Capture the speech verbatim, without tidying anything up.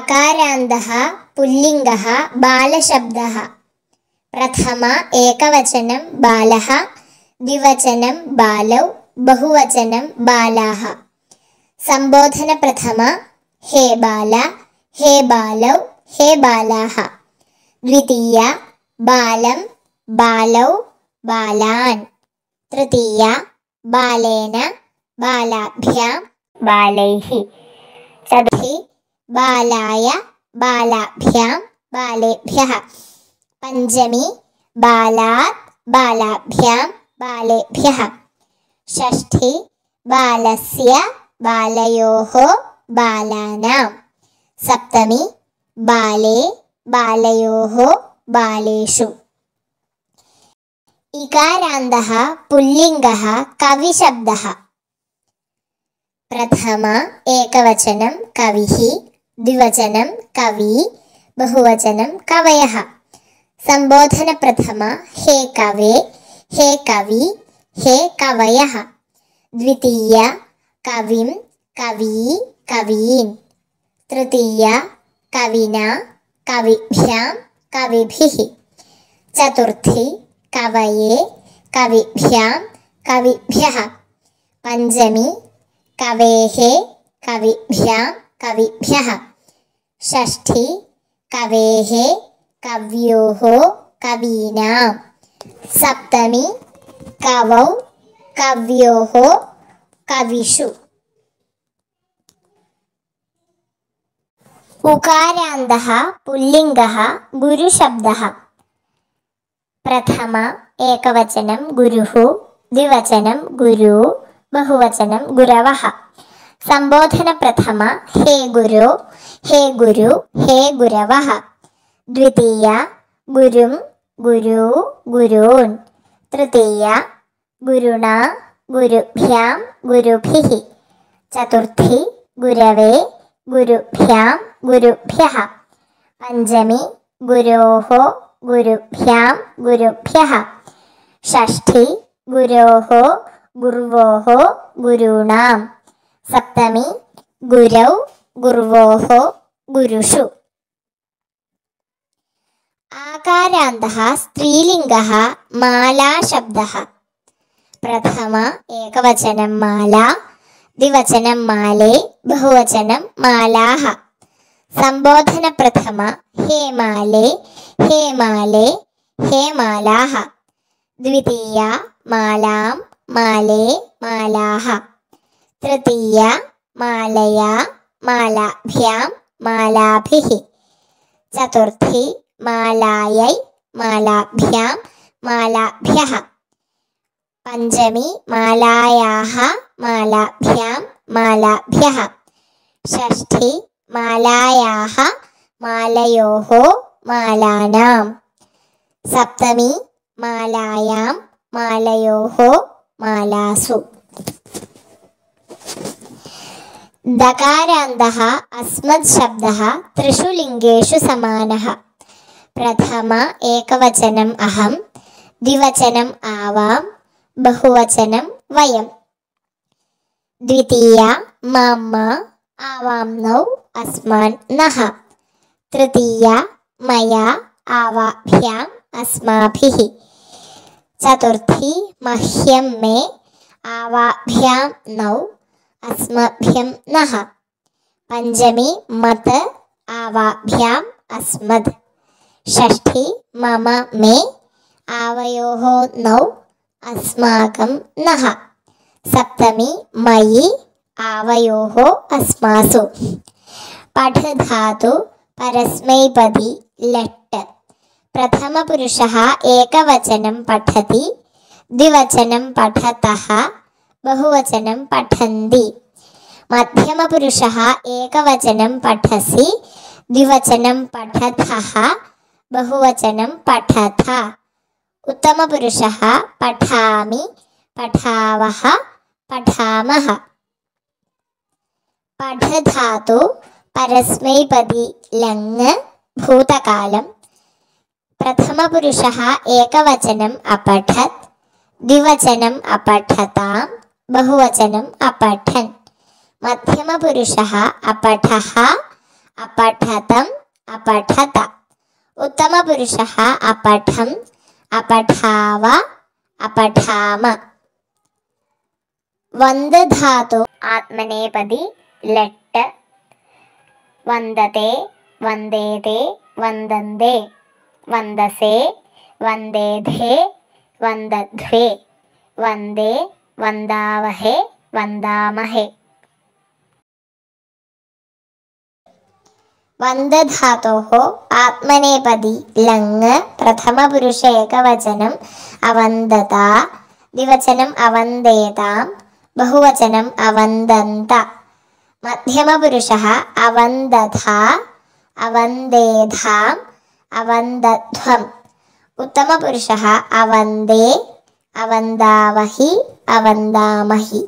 आकारान्तः पुल्लिङ्गः बालशब्दः। प्रथम एकवचनं बालः, द्विवचनं बालौ, बहुवचनं बालाः। संबोधन प्रथम हे बाल, हे बालौ, हे बालाः। द्वितीया बालं, बालौ, बालान्। तृतीया बालेन, बालाभ्यां, बालैः। चतुर्थी बालाय, बालाभ्यां, बालेभ्यः। पंचमी बालात्, बालाभ्यां, बालेभ्यः। षष्ठी बालस्य, बालयोः, बालानां। सप्तमी बाले, बालयोः, बालेषु। इकारान्तः पुल्लिङ्गः कविशब्दः। प्रथम एकवचनं कविः, द्विवचनं कवी, बहुवचनं कवयः। संबोधन प्रथम हे कवे, हे कवि, हे कवयः। द्वितीया कविं, कवी, कवीन्। तृतीया कविना, कविभ्यां, कविभिः। चतुर्थी कवये, कविभ्यां, कविभ्यः। पंचमी कवेः, कविभ्यां, कविभ्यः। षष्ठी कवेः, कव्योः, कवीनां। सप्तमी कवौ, कव्योः, कविषु। उकारान्तः पुल्लिङ्गः गुरुशब्दः। प्रथम एकवचनं गुरुः, द्विवचनं गुरु, बहुवचनं गुरवः। संबोधन प्रथम हे गुरु, हे गुरु, हे गुरवः। द्वितीया गुरुं, गुरु, गुरून्। तृतीया गुरुणा, गुरुभ्यां, गुरुभिः। चतुर्थी गुरवे, गुरुभ्यां, गुरुभ्यः। पंचमी गुरोः, गुरुभ्यां, गुरुभ्यः। षष्ठी गुरोः, गुर्वोः, गुरूणां। सप्तमी गुरौ, गुर्वोः, गुरुषु। आकारान्तः स्त्रीलिङ्गः मालाशब्दः। प्रथम एकवचनं माला, द्विवचनं माले, बहुवचनं मालाः। संबोधन प्रथम हे माले, हे माले, हे मालाः। द्वितीया मालां, माले, मालाः। तृतीया मालया, मालाभ्यां, मालाभिः। चतुर्थी मालायै, मालाभ्यां, मालाभ्यः। पंचमी मालायाः, मालाभ्यां, मालाभ्यः। षष्ठी मालायाः, मालयोः, मालानां। सप्तमी मालायां, मालयोः, मालासु। दकारान्तः अस्मत् शब्दः त्रिषु लिङ्गेषु समानः। प्रथम एकवचनम् अहं, द्विवचनम् आवां, बहुवचनं वयं। द्वितीया मम, आवाम्नौ, अस्मान् नः। तृतीया मया, आवाभ्याम्, अस्माभिः। चतुर्थी मह्यं, मे, आवाभ्यां नौ, अस्मभ्यं नः। पंचमी मत, आवाभ्याम्, अस्मद्। षष्ठी मम, मे, आवयोः नौ, अस्माकं नः। सप्तमी मयि, आवयोः, अस्मासु। पठ धातु परस्मैपदी लट्। प्रथमपुरुषः एकवचनं पठति, द्विवचनं पठतः, बहुवचनं पठन्ति। मध्यमपुरुषः एकवचनं पठसि, द्विवचनं पठतः, बहुवचनं पठथ। उत्तमपुरुषः पठामि, पठावः, पठामः। पठ धातु परस्मैपदी लङ् भूतकालं। प्रथमपुरुषः एकवचनम् अपठत्, द्विवचनम् अपठतां, बहुवचनम् अपठन्। मध्यमपुरुषः अपठः, अपठतम् अपठत। उत्तमपुरुषः अपठम् अपठाव अपठाम। वन्द धातु आत्मनेपदी लट्। वन्दते वन्देते वन्दन्ते वन्दसे वन्देधे वन्दध्वे वन्दे वन्दावहे वन्दामहे। वन्द धातोः आत्मनेपदी लङ् प्रथमपुरुष एकवचनम् अवन्दता द्विवचनम् अवन्देतां बहुवचनम् अवन्दन्त। मध्यमपुरुषः अवन्दथा अवन्देधाम् अवन्दध्वम्। उत्तमपुरुषः अवन्दे अवन्दावहि अवन्दामहि।